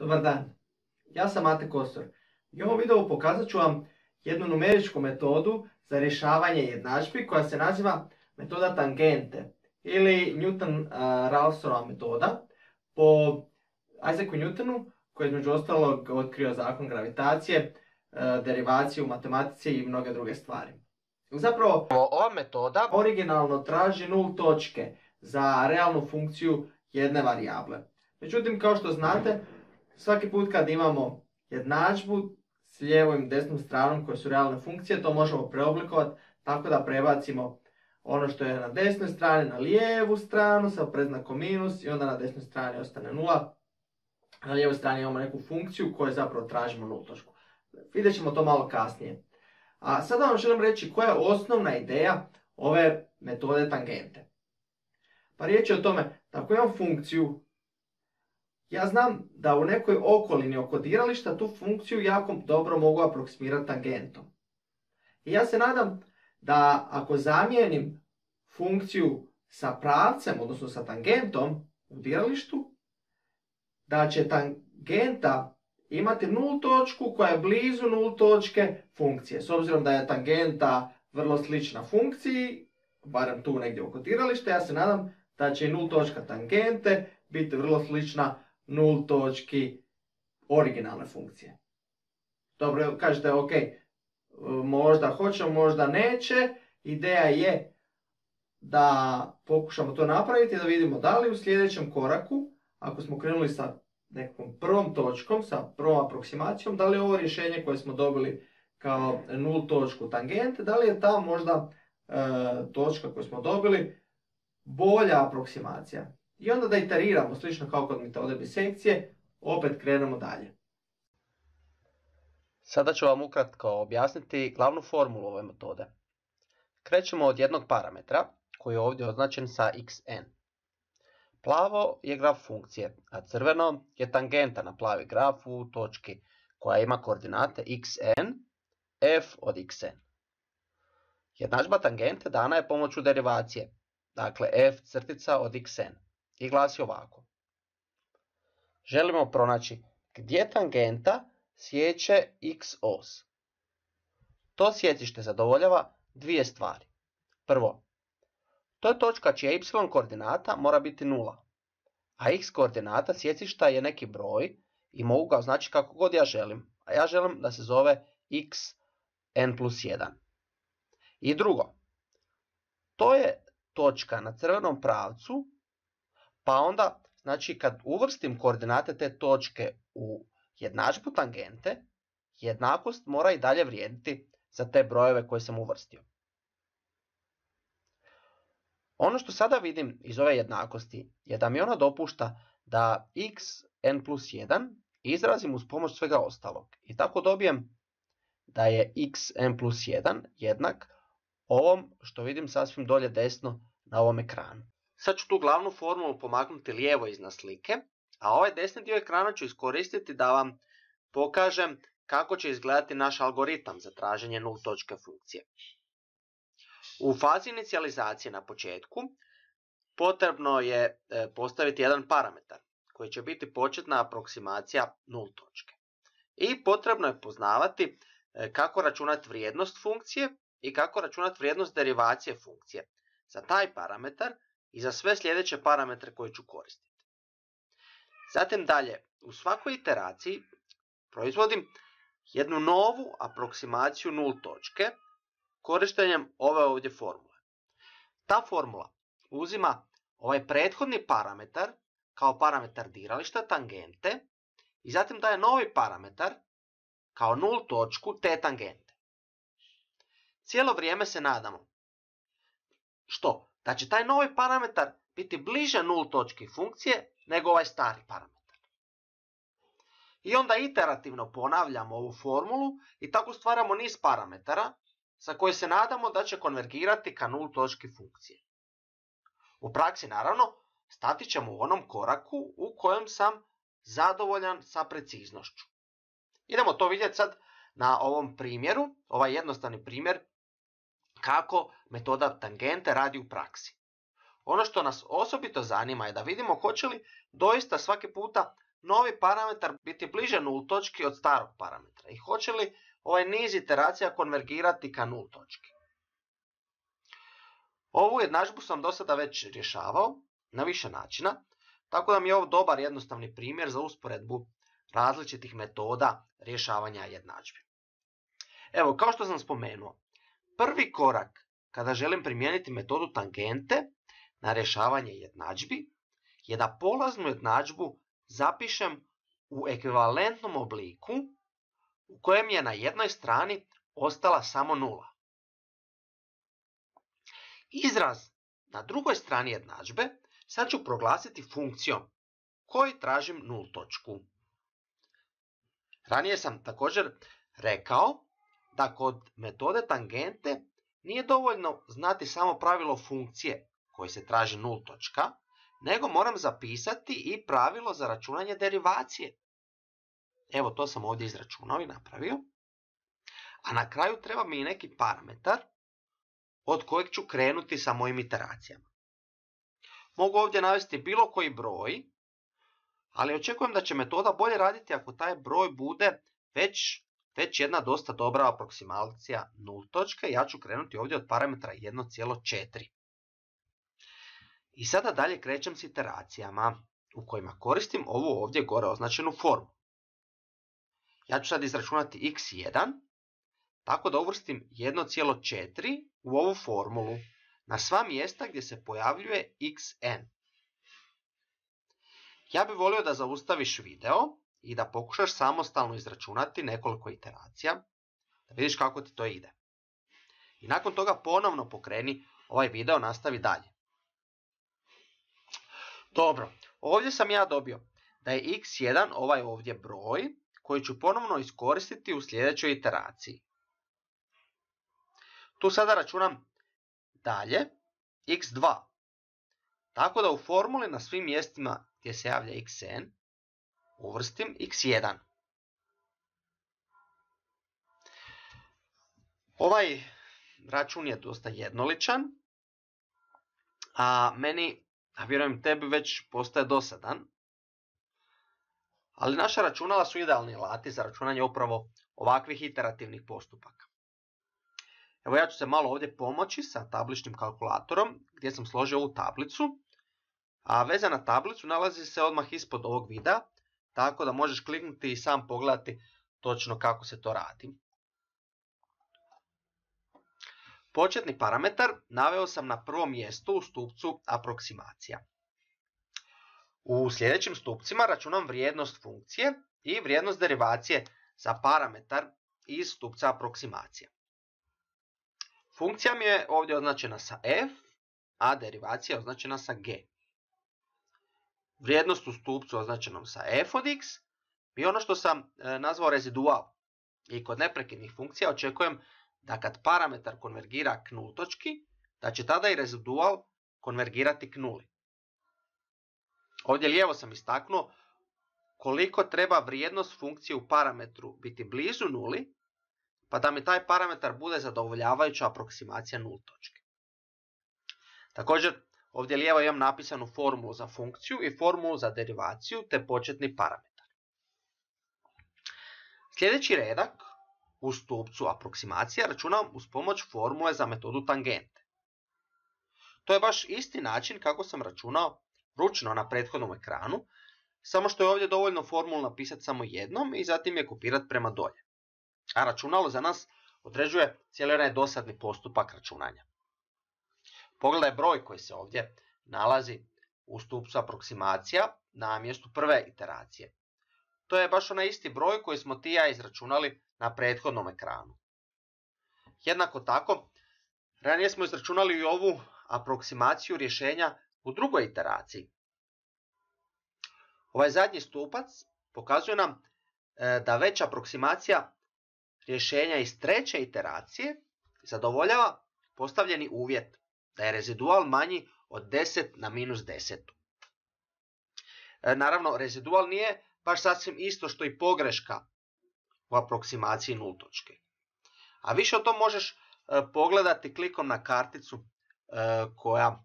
Dobar dan, ja sam Mate Kosor i u ovom videu pokazat ću vam jednu numeričku metodu za rješavanje jednadžbi koja se naziva metoda tangente ili Newton-Raphsonova metoda po Isaacu Newtonu koji je između ostalog otkrio zakon gravitacije, derivaciju u matematici i mnoge druge stvari. Zapravo, ova metoda originalno traži nul točke za realnu funkciju jedne varijable. Međutim, kao što znate, svaki put kad imamo jednadžbu s lijevom i desnom stranom koje su realne funkcije, to možemo preoblikovati tako da prebacimo ono što je na desnoj strani na lijevu stranu sa predznakom minus i onda na desnoj strani ostane nula. Na lijevoj strani imamo neku funkciju koju zapravo tražimo nul točku. Vidjet ćemo to malo kasnije. A sada vam želim reći koja je osnovna ideja ove metode tangente. Pa riječ je o tome da ako imam funkciju, ja znam da u nekoj okolini oko dirališta tu funkciju jako dobro mogu aproksimirati tangentom. I ja se nadam da ako zamijenim funkciju sa pravcem, odnosno sa tangentom u diralištu, da će tangenta imati nul točku koja je blizu nul točke funkcije. S obzirom da je tangenta vrlo slična funkciji, barem tu negdje oko dirališta, ja se nadam da će i nul točka tangente biti vrlo slična nul točki originalne funkcije. Dobro, kažete ok, možda hoće, možda neće. Ideja je da pokušamo to napraviti i da vidimo da li u sljedećem koraku, ako smo krenuli sa nekom prvom točkom, sa prvom aproksimacijom, da li je ovo rješenje koje smo dobili kao nul točku tangente, da li je ta možda točka koju smo dobili bolja aproksimacija. I onda da iteriramo, slično kao kod metode bisekcije, opet krenemo dalje. Sada ću vam ukratko objasniti glavnu formulu ove metode. Krećemo od jednog parametra koji je ovdje označen sa xn. Plavo je graf funkcije, a crveno je tangenta na plavi graf u točki koja ima koordinate xn, f od xn. Jednadžba tangente dana je pomoću derivacije, dakle f crtica od xn, i glasi ovako. Želimo pronaći gdje tangenta sječe x os. To sjecište zadovoljava dvije stvari. Prvo, to je točka čija y koordinata mora biti 0, a x koordinata sjecišta je neki broj i mogu ga označiti kako god ja želim, a ja želim da se zove xn+1. I drugo, to je točka na crvenom pravcu, pa onda, znači kad uvrstim koordinate te točke u jednadžbu tangente, jednakost mora i dalje vrijediti za te brojeve koje sam uvrstio. Ono što sada vidim iz ove jednakosti je da mi ona dopušta da xn+1 izrazim uz pomoć svega ostalog. I tako dobijem da je xn+1 jednak ovom što vidim sasvim dolje desno na ovom ekranu. Sad ću tu glavnu formulu pomaknuti lijevo iznad slike, a ovaj desni dio ekrana ću iskoristiti da vam pokažem kako će izgledati naš algoritam za traženje nul točke funkcije. U fazi inicijalizacije na početku potrebno je postaviti jedan parametar koji će biti početna aproksimacija nul točke. I potrebno je poznavati kako računati vrijednost funkcije i kako računati vrijednost derivacije funkcije za taj parametar i za sve sljedeće parametre koje ću koristiti. Zatim dalje, u svakoj iteraciji proizvodim jednu novu aproksimaciju nul točke korištenjem ove ovdje formule. Ta formula uzima ovaj prethodni parametar kao parametar dirališta tangente i zatim daje novi parametar kao nul točku te tangente. Cijelo vrijeme se nadamo što? Da će taj novi parametar biti bliže nul točki funkcije nego ovaj stari parametar. I onda iterativno ponavljamo ovu formulu i tako stvaramo niz parametara za koje se nadamo da će konvergirati ka nul točki funkcije. U praksi naravno stati ćemo u onom koraku u kojem sam zadovoljan sa preciznošću. Idemo to vidjeti sad na ovom primjeru, ovaj jednostavni primjer kako metoda tangente radi u praksi. Ono što nas osobito zanima je da vidimo hoće li doista svaki puta novi parametar biti bliže nul točki od starog parametra i hoće li ovaj niz iteracija konvergirati ka nul točki. Ovu jednadžbu sam do sada već rješavao na više načina, tako da mi je ovo dobar jednostavni primjer za usporedbu različitih metoda rješavanja jednadžbi. Evo, kao što sam spomenuo, prvi korak kada želim primijeniti metodu tangente na rješavanje jednadžbi je da polaznu jednadžbu zapišem u ekvivalentnom obliku u kojem je na jednoj strani ostala samo nula. Izraz na drugoj strani jednadžbe sad ću proglasiti funkcijom koji tražim nul točku. Ranije sam također rekao da kod metode tangente nije dovoljno znati samo pravilo funkcije koji se traži nul točka, nego moram zapisati i pravilo za računanje derivacije. Evo, to sam ovdje izračunao i napravio. A na kraju treba mi i neki parametar od kojeg ću krenuti sa mojim iteracijama. Mogu ovdje navesti bilo koji broj, ali očekujem da će metoda bolje raditi ako taj broj bude već jedna dosta dobra aproksimacija nul točke. Ja ću krenuti ovdje od parametra 1,4. I sada dalje krećem s iteracijama u kojima koristim ovu ovdje gore označenu formu. Ja ću sad izračunati x1, tako da uvrstim 1,4 u ovu formulu na sva mjesta gdje se pojavljuje xn. Ja bih volio da zaustaviš video i da pokušaš samostalno izračunati nekoliko iteracija, da vidiš kako ti to ide. I nakon toga ponovno pokreni ovaj video, nastavi dalje. Dobro, ovdje sam ja dobio da je x1 ovaj ovdje broj koji ću ponovno iskoristiti u sljedećoj iteraciji. Tu sada računam dalje x2, tako da u formuli na svim mjestima gdje se javlja xn uvrstim x1. Ovaj račun je dosta jednoličan, a meni, a vjerujem tebi, već postaje dosadan. Ali naša računala su idealni alati za računanje upravo ovakvih iterativnih postupaka. Evo, ja ću se malo ovdje pomoći sa tabličnim kalkulatorom gdje sam složio ovu tablicu, a veza na tablicu nalazi se odmah ispod ovog videa, tako da možeš kliknuti i sam pogledati točno kako se to radi. Početni parametar naveo sam na prvom mjestu u stupcu aproksimacija. U sljedećim stupcima računam vrijednost funkcije i vrijednost derivacije za parametar iz stupca aproksimacija. Funkcija mi je ovdje označena sa f, a derivacija je označena sa g. Vrijednost u stupcu označenom sa f od x je ono što sam nazvao rezidual. I kod neprekidnih funkcija očekujem da kad parametar konvergira k nul točki, da će tada i rezidual konvergirati k nuli. Ovdje lijevo sam istaknuo koliko treba vrijednost funkcije u parametru biti blizu nuli, pa da mi taj parametar bude zadovoljavajuća aproksimacija nul točke. Također, ovdje lijevo imam napisanu formulu za funkciju i formulu za derivaciju te početni parametar. Sljedeći redak u stupcu aproksimacija računam uz pomoć formule za metodu tangente. To je baš isti način kako sam računao ručno na prethodnom ekranu, samo što je ovdje dovoljno formulu napisati samo jednom i zatim je kopirati prema dolje. A računalo za nas određuje cijeli onaj dosadni postupak računanja. Pogledaj broj koji se ovdje nalazi u stupcu aproksimacija na mjestu prve iteracije. To je baš onaj isti broj koji smo ti i ja izračunali na prethodnom ekranu. Jednako tako, ranije smo izračunali i ovu aproksimaciju rješenja u drugoj iteraciji. Ovaj zadnji stupac pokazuje nam da već aproksimacija rješenja iz treće iteracije zadovoljava postavljeni uvjet da je rezidual manji od 10 na minus 10. Naravno, rezidual nije baš sasvim isto što i pogreška u aproksimaciji nul točke. A više o tom možeš pogledati klikom na karticu koja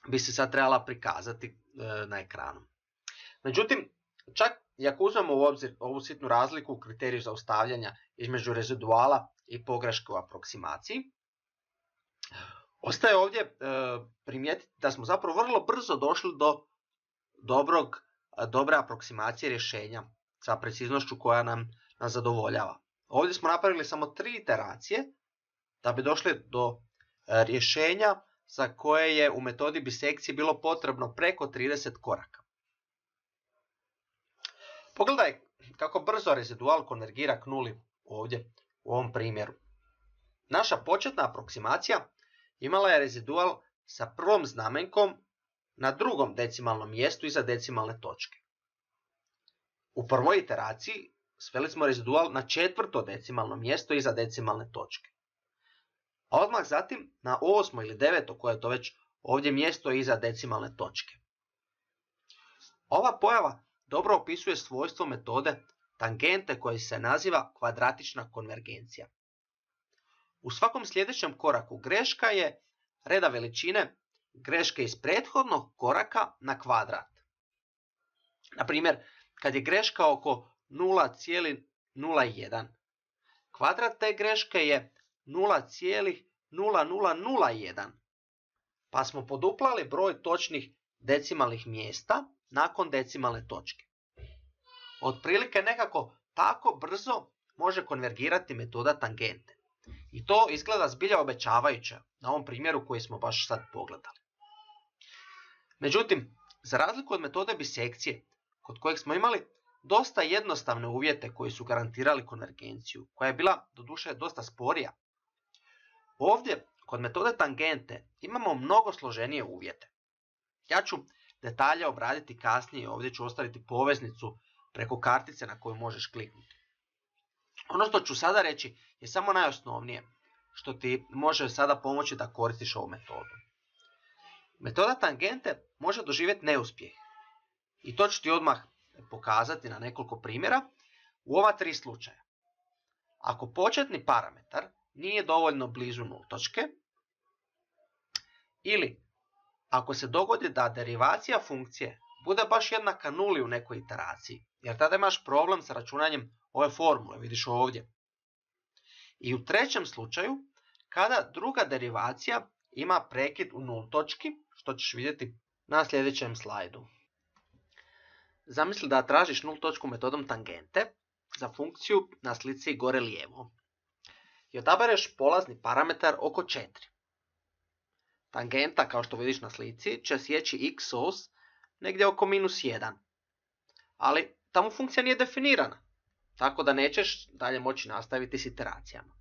bi se sad trebala prikazati na ekranu. Međutim, Čak i ako uzmemo u obzir ovu sitnu razliku u kriteriju zaustavljanja između reziduala i pogreške u aproksimaciji, ostaje ovdje primijetiti da smo zapravo vrlo brzo došli do dobre aproksimacije rješenja sa preciznošću koja nam zadovoljava. Ovdje smo napravili samo 3 iteracije da bi došli do rješenja za koje je u metodi bisekcije bilo potrebno preko 30 koraka. Pogledaj kako brzo rezidual konvergira k nuli ovdje u ovom primjeru. Naša početna aproksimacija imala je rezidual sa prvom znamenkom na drugom decimalnom mjestu iza decimalne točke. U prvoj iteraciji sveli smo rezidual na 4. decimalno mjesto iza decimalne točke. A odmah zatim na 8. ili 9. koje je to već ovdje mjesto iza decimalne točke. Ova pojava dobro opisuje svojstvo metode tangente koje se naziva kvadratična konvergencija. U svakom sljedećem koraku greška je reda veličine greške iz prethodnog koraka na kvadrat. Na primjer, kad je greška oko 0,01, kvadrat te greške je 0,0001, pa smo poduplali broj točnih decimalnih mjesta nakon decimalne točke. Otprilike nekako tako brzo može konvergirati metoda tangente. I to izgleda zbilja obećavajuće na ovom primjeru koji smo baš sad pogledali. Međutim, za razliku od metode bisekcije, kod kojeg smo imali dosta jednostavne uvjete koji su garantirali konvergenciju, koja je bila doduše dosta sporija, ovdje kod metode tangente imamo mnogo složenije uvjete. Ja ću detalje obraditi kasnije, ovdje ću ostaviti poveznicu preko kartice na koju možeš kliknuti. Ono što ću sada reći je samo najosnovnije, što ti može sada pomoći da koristiš ovu metodu. Metoda tangente može doživjeti neuspjeh. I to ću ti odmah pokazati na nekoliko primjera u ova 3 slučaja. Ako početni parametar nije dovoljno blizu nultočke, ili ako se dogodi da derivacija funkcije bude baš jednaka nuli u nekoj iteraciji, jer tada imaš problem sa računanjem ove formule, vidiš ovdje. I u trećem slučaju, kada druga derivacija ima prekid u nultočki, što ćeš vidjeti na sljedećem slajdu. Zamisli da tražiš nultočku metodom tangente za funkciju na slici gore lijevo i odabereš polazni parametar oko 4. Tangenta, kao što vidiš na slici, će sjeći x os negdje oko -1, ali tamo funkcija nije definirana, tako da nećeš dalje moći nastaviti s iteracijama.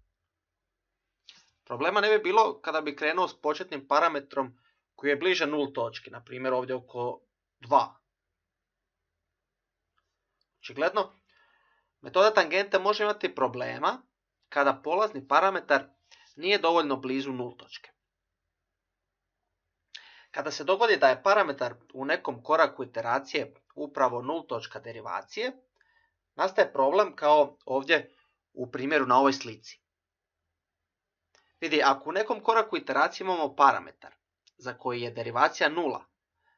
Problema ne bi bilo kada bi krenuo s početnim parametrom koji je bliže nultočki, na primjer ovdje oko 2. Očigledno, metoda tangente može imati problema kada polazni parametar nije dovoljno blizu nultočke. Kada se dogodi da je parametar u nekom koraku iteracije upravo nultočka derivacije, nastaje problem kao ovdje u primjeru na ovoj slici. Vidi, ako u nekom koraku iteracije imamo parametar za koji je derivacija 0,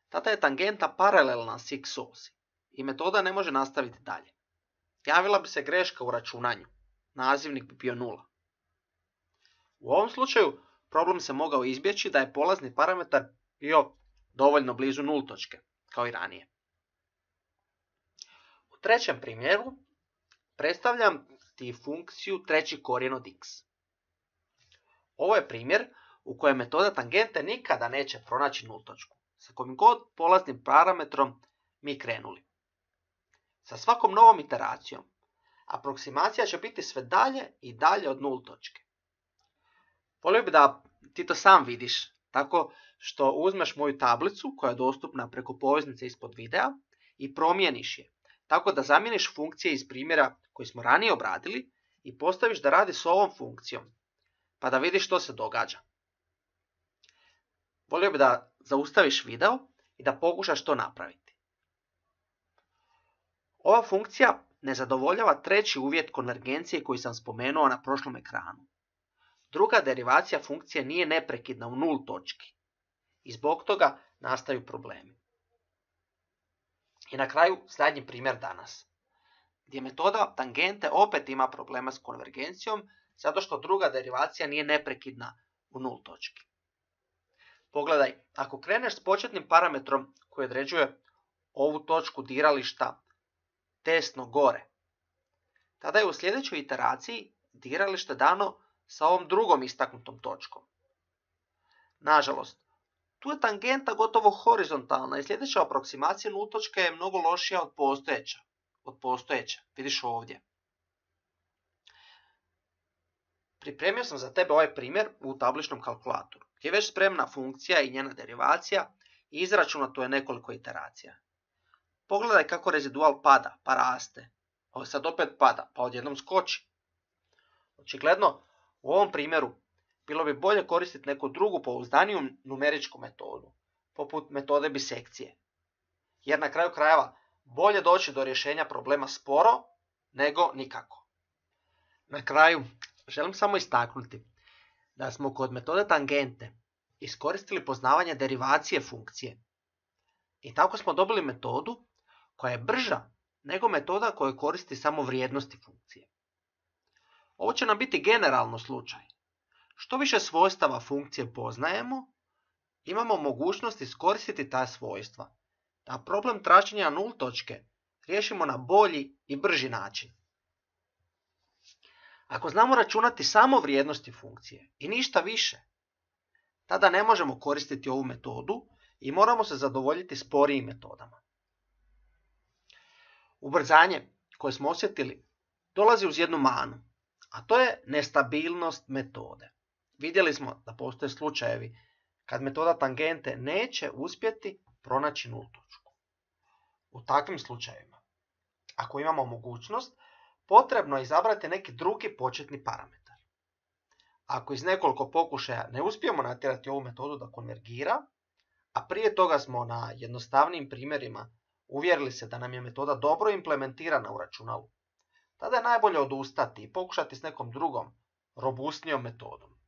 tada je tangenta paralelna s x osi i metoda ne može nastaviti dalje. Javila bi se greška u računanju, nazivnik bi bio 0. U ovom slučaju problem se mogao izbjeći da je polazni parametar bio dovoljno blizu nultočke, kao i ranije. U trećem primjeru predstavljam ti funkciju treći korijen od x. Ovo je primjer u kojem metoda tangente nikada neće pronaći nultočku, sa kojim god polaznim parametrom mi krenuli. Sa svakom novom iteracijom, aproksimacija će biti sve dalje i dalje od nultočke. Volio bih da ti to sam vidiš, tako što uzmeš moju tablicu koja je dostupna preko poveznice ispod videa i promijeniš je, tako da zamijeniš funkcije iz primjera koji smo ranije obradili i postaviš da radi s ovom funkcijom, pa da vidiš što se događa. Volio bih da zaustaviš video i da pokušaš to napraviti. Ova funkcija ne zadovoljava treći uvjet konvergencije koji sam spomenuo na prošlom ekranu. Druga derivacija funkcije nije neprekidna u nul točki i zbog toga nastaju problemi. I na kraju zadnji primjer danas, gdje metoda tangente opet ima problema s konvergencijom, zato što druga derivacija nije neprekidna u nul točki. Pogledaj, ako kreneš s početnim parametrom koji određuje ovu točku dirališta desno gore, tada je u sljedećoj iteraciji diralište dano sa ovom drugom istaknutom točkom. Nažalost, tu je tangenta gotovo horizontalna i sljedeća aproksimacija nul točke je mnogo lošija od postojeće. Vidiš ovdje. Pripremio sam za tebe ovaj primjer u tabličnom kalkulatoru, gdje je već spremna funkcija i njena derivacija i izračunato je nekoliko iteracija. Pogledaj kako rezidual pada, pa raste. Ovo sad opet pada, pa odjednom skoči. Očigledno, u ovom primjeru bilo bi bolje koristiti neku drugu pouzdaniju numeričku metodu, poput metode bisekcije. Jer na kraju krajeva bolje doći do rješenja problema sporo nego nikako. Na kraju želim samo istaknuti da smo kod metode tangente iskoristili poznavanje derivacije funkcije. I tako smo dobili metodu koja je brža nego metoda koja koristi samo vrijednosti funkcije. Ovo će nam biti generalno slučaj. Što više svojstava funkcije poznajemo, imamo mogućnost iskoristiti ta svojstva, da problem traženja nul točke riješimo na bolji i brži način. Ako znamo računati samo vrijednosti funkcije i ništa više, tada ne možemo koristiti ovu metodu i moramo se zadovoljiti sporijim metodama. Ubrzanje koje smo osjetili dolazi uz jednu manu, a to je nestabilnost metode. Vidjeli smo da postoje slučajevi kad metoda tangente neće uspjeti pronaći nul točku. U takvim slučajevima, ako imamo mogućnost, potrebno je izabrati neki drugi početni parametar. Ako iz nekoliko pokušaja ne uspijemo natjerati ovu metodu da konvergira, a prije toga smo na jednostavnijim primjerima uvjerili se da nam je metoda dobro implementirana u računalu, tada je najbolje odustati i pokušati s nekom drugom, robustnijom metodom.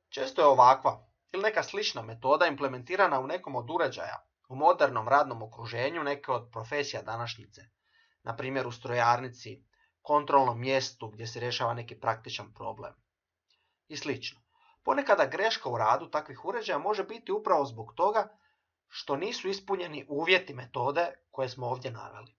Često je ovakva ili neka slična metoda implementirana u nekom od uređaja u modernom radnom okruženju neke od profesija današnjice, na primjer u strojarnici, kontrolnom mjestu gdje se rješava neki praktičan problem i slično. Ponekada greška u radu takvih uređaja može biti upravo zbog toga što nisu ispunjeni uvjeti metode koje smo ovdje naveli.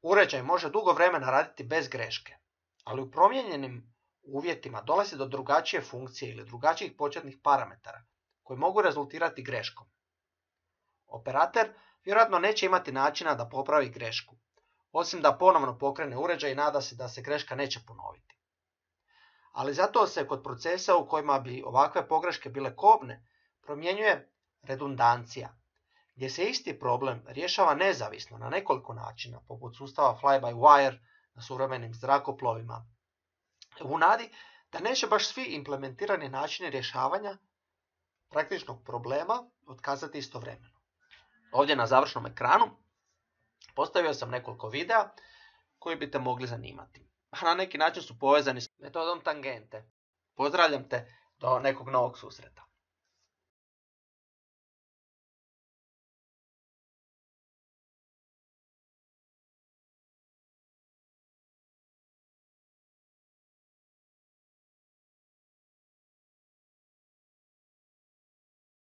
Uređaj može dugo vremena raditi bez greške, ali u promijenjenim uvjetima dolazi do drugačije funkcije ili drugačijih početnih parametara koji mogu rezultirati greškom. Operater vjerojatno neće imati načina da popravi grešku, osim da ponovno pokrene uređaj i nada se da se greška neće ponoviti. Ali zato se kod procesa u kojima bi ovakve pogreške bile kobne promjenjuje redundancija, gdje se isti problem rješava nezavisno na nekoliko načina, poput sustava fly-by-wire na suvremenim zrakoplovima, u nadi da neće baš svi implementirani načini rješavanja praktičnog problema otkazati istovremeno. Ovdje na završnom ekranu postavio sam nekoliko videa koji bi te mogli zanimati, a na neki način su povezani s metodom tangente. Pozdravljam te do nekog novog susreta.